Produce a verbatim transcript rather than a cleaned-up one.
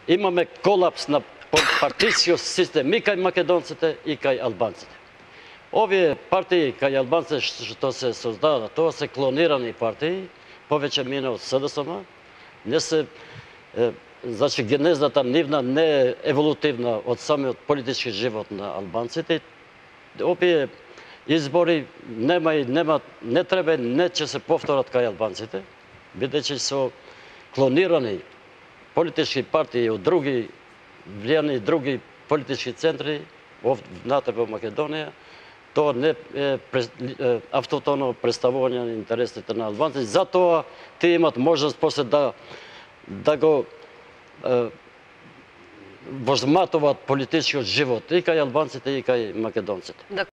имаме колапс на партијскиот систем и кај македонците и кај албанците. Овие партии кај албанците што се создадат, тоа се клонирани партии, повеќе мина од СДСМ, не се е, значи генезата нивна не е еволутивна од самиот политички живот на албанците. Овие избори нема и нема не треба не ќе се повторат кај албанците, бидејќи со клонирани политички партии од други влијани други политички центри внатре во Македонија, тоа не е автотоно представување на интересите на албанците. Затоа тие имат можност после да да го е, возматуваат политичкиот живот и кај албанците и кај македонците.